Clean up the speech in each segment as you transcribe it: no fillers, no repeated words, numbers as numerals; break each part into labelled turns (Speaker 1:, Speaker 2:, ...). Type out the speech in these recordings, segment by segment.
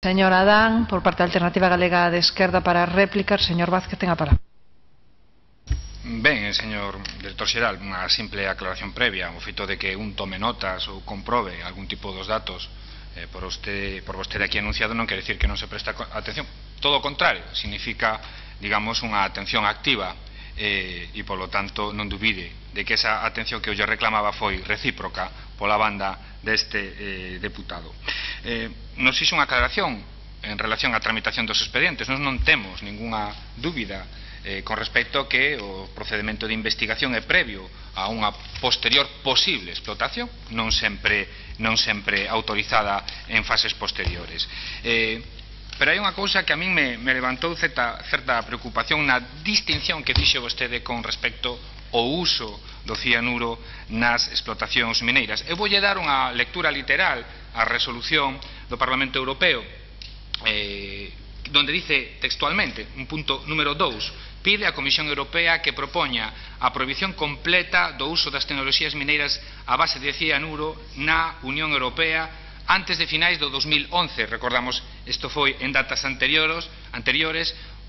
Speaker 1: Señor Adán, por parte da Alternativa Galega de Esquerda para réplicar, señor Vázquez, ten a palabra.
Speaker 2: Ben, señor director xeral, unha simple aclaración previa. O feito de que un tome notas ou comprobe algún tipo dos datos por vostede aquí anunciado non quere dicir que non se presta atención. Todo o contrario, significa, digamos, unha atención activa e, polo tanto, non dubide de que esa atención que eu lle reclamaba foi recíproca pola banda deste deputado. Nos fixo unha aclaración en relación á tramitación dos expedientes. Nós non temos ningunha dúbida con respecto a que o procedimento de investigación é previo a unha posterior posible explotación, non sempre autorizada en fases posteriores. Pero hai unha cousa que a min me levantou certa preocupación na distinción que fixo vostede con respecto ao uso do cianuro nas explotacións mineiras. Eu voulle dar unha lectura literal á resolución do Parlamento Europeo, donde dice textualmente, un punto número 2, pide á Comisión Europea que propoña a prohibición completa do uso das tecnoloxías mineiras a base de cianuro na Unión Europea antes de finais do 2011. Recordamos, isto foi en datas anteriores,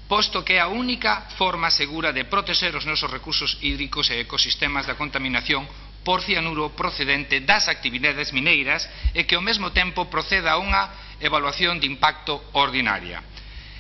Speaker 2: posto que é a única forma segura de protexer os nosos recursos hídricos e ecosistemas da contaminación por cianuro procedente das actividades mineiras e que ao mesmo tempo proceda a unha evaluación de impacto ordinaria.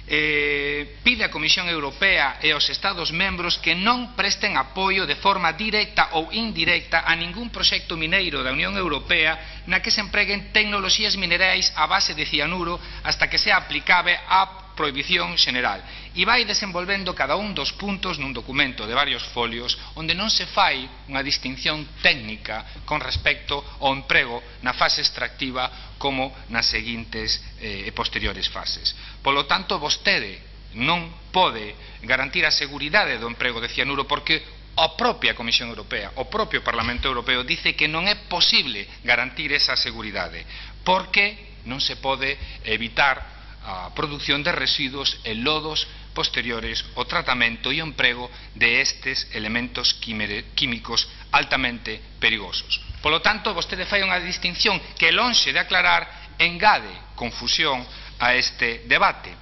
Speaker 2: Pide á Comisión Europea e aos Estados membros que non presten apoio de forma directa ou indirecta a ningún proxecto mineiro da Unión Europea na que se empreguen tecnoloxías minerais a base de cianuro hasta que sea aplicable a prohibición xeneral. E vai desenvolvendo cada un dos puntos nun documento de varios folios onde non se fai unha distinción técnica con respecto ao emprego na fase extractiva como nas seguintes e posteriores fases. Polo tanto, vostede non pode garantir a seguridade do emprego de cianuro porque a propia Comisión Europea, o propio Parlamento Europeo dice que non é posible garantir esa seguridade porque non se pode evitar a produción de residuos e lodos posteriores ao tratamento e o emprego de estes elementos químicos altamente perigosos. Polo tanto, vostede fai unha distinción que, lonxe de aclarar, engade confusión a este debate.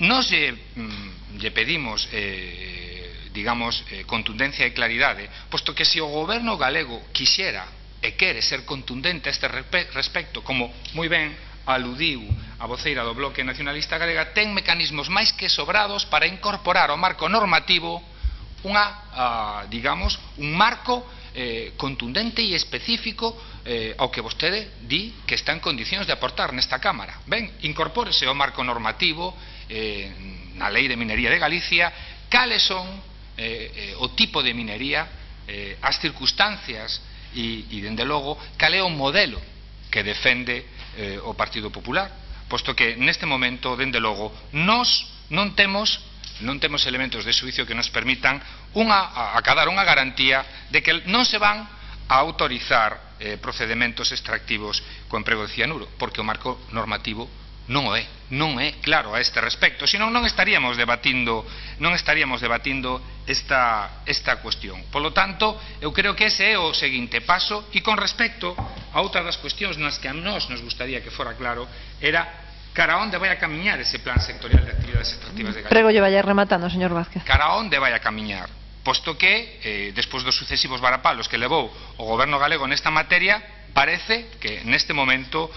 Speaker 2: Nos lle pedimos, digamos, contundencia e claridade, posto que se o goberno galego quixera e quere ser contundente a este respecto, como moi ben aludiu a voceira do Bloque Nacionalista Galega, ten mecanismos máis que sobrados para incorporar ao marco normativo digamos, un marco contundente e específico ao que vostede di que está en condicións de aportar nesta Cámara. Ben, incorpórese ao marco normativo na Lei de Minería de Galicia cales son o tipo de minería, as circunstancias e, dende logo, cal é o modelo que defende o Partido Popular, posto que neste momento, dende logo, nós non temos elementos de xuicio que nos permitan acadar unha garantía de que non se van a autorizar procedementos extractivos co emprego de cianuro, porque o marco normativo non é claro a este respecto, senón non estaríamos debatindo esta cuestión. Polo tanto, eu creo que ese é o seguinte paso, e con respecto a outra das cuestións nas que a nós nos gustaría que fora claro, era cara a onde vai a camiñar ese plan sectorial de actividades extractivas de Galicia.
Speaker 1: Prego lle vaya rematando, señor Vázquez.
Speaker 2: Cara a onde vai a camiñar, posto que, despois dos sucesivos varapalos que levou o goberno galego nesta materia, parece que neste momento,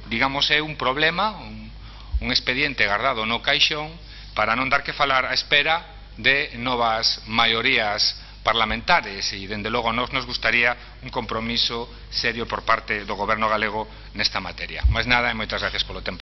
Speaker 2: digamos, é un problema, un expediente guardado no caixón para non dar que falar á espera de novas maiorías parlamentarias e, dende logo, a nós nos gustaría un compromiso serio por parte do goberno galego nesta materia. Máis nada e moitas gracias polo tempo.